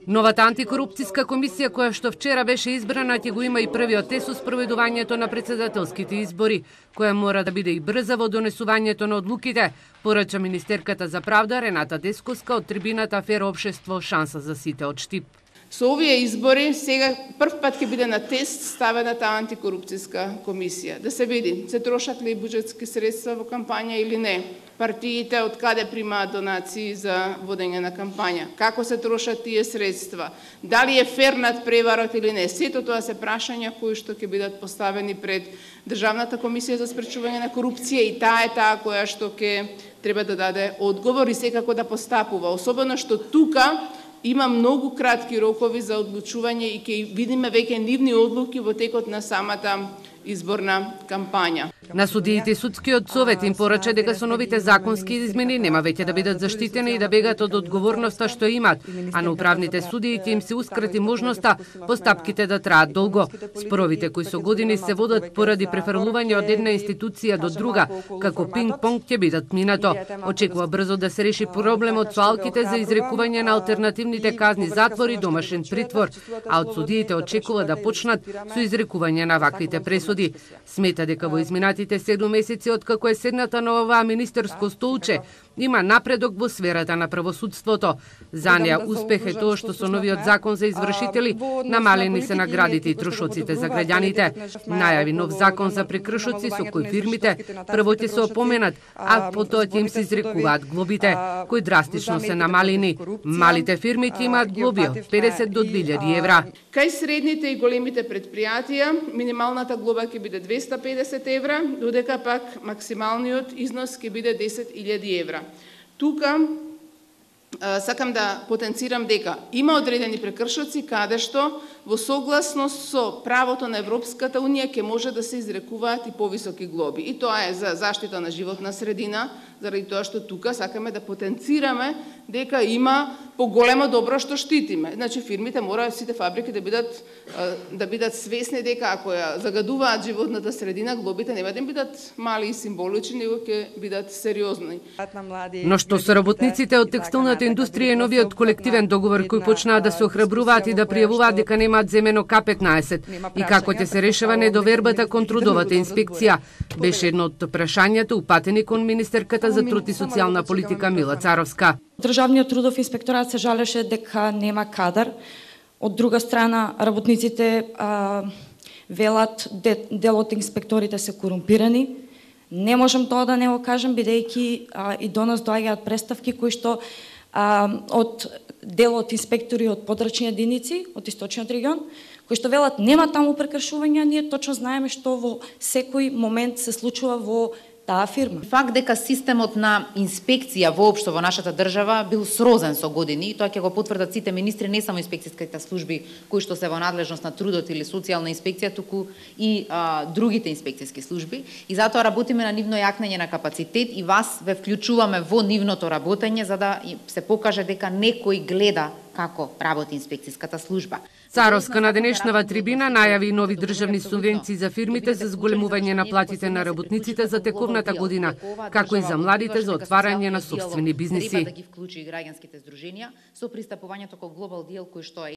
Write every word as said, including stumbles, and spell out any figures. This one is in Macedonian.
Новата антикорупцијска комисија, која што вчера беше избрана, ќе го има и првиот тест со спроведувањето на претседателските избори, која мора да биде и брза во донесувањето на одлуките, порача министерката за правда Рената Десковска од трибината Афера Општество, шанса за сите од Штип. Со овие избори сега прв пат ќе биде на тест ставена таа антикорупцијска комисија. Да се види, се трошат ли буџетски средства во кампања или не. Партиите од каде примаат донации за водење на кампања. Како се трошат тие средства. Дали е фер надпреварот или не. Сето тоа се прашања кои што ќе бидат поставени пред Државната комисија за спречување на корупција и таа е таа која што ќе треба да даде одговор и секако да постапува. Особено што тука има многу кратки рокови за одлучување и ќе видиме веќе нивни одлуки во текот на самата изборна кампања. На судиите и судскиот совет им порача дека со новите законски измени нема веќе да бидат заштитени и да бегат од одговорноста што имат, а на управните судиите им се ускрати можноста постапките да траат долго. Споровите кои со години се водат поради префрлување од една институција до друга, како пинг-понг ќе бидат минато. Очекува брзо да се реши проблемот со алките за изрекување на алтернативните казни затвор и домашен притвор, а од судиите очекува да почнат со изрекување на ваквите пресуди. Смета дека во изминатите седум месеци откако е седната на оваа министерско столче, има напредок во сферата на правосудството. За неа успех е тоа што со новиот закон за извршители намалени се наградите и трошоците за граѓаните. Најави нов закон за прекршоци со кој фирмите прво ќе се опоменат, а потоа ќе им се изрекуваат глобите, кои драстично се намалени. Малите фирми ќе имаат глоби од педесет до две илјади евра. Кај средните и големите предпријатија минималната глоба ќе биде двеста педесет евра, додека пак максималниот износ ќе биде десет илјади евра. Тука сакам да потенцирам дека има одредени прекршоци каде што во согласност со правото на Европската унија ќе може да се изрекуваат и повисоки глоби. И тоа е за заштита на животна средина, заради тоа што тука сакаме да потенцираме дека има поголемо добро што штитиме. Значи фирмите мора сите фабрики да бидат да бидат свесни дека ако ја загадуваат животната средина, глобите нема да бидат мали и символични, него ќе бидат сериозни. Но што со работниците од текстилната индустрија и новиот колективен договор кој почнаа да се охрабруваат и да пријавуваат дека немаат земено К петнаесет и како ќе се решава недовербата кон трудовата инспекција, беше едно од прашањата упатени кон министерката за труд и социјална политика Мила Царовска. Државниот трудов инспекторат се жалеше дека нема кадар. Од друга страна, работниците а, велат де, дел од инспекторите се корумпирани. Не можам тоа да не го кажам, бидејќи а, и до нас доаѓаат представки кои што а, од дел од инспектори од подрачни единици од источниот регион, кои што велат нема таму прекршувања, ние точно знаеме што во секој момент се случува во таа фирма. Факт дека системот на инспекција воопшто во нашата држава бил срозен со години, и тоа ќе го потврдат сите министри, не само инспекцијските служби кои што се во надлежност на трудот или социјална инспекција, туку и а, другите инспекцијски служби. И затоа работиме на нивно јакнење на капацитет и вас ве вклучуваме во нивното работење за да се покаже дека некој гледа како работи инспекцијската служба. Царовска на денешнава трибина најави нови државни субвенции за фирмите за зголемување на платите на работниците за тековната година, како и за младите за отварање на сопствени бизниси. Треба да ги вклучи и граѓанските здруженија со пристапувањето кон Global Deal кој што е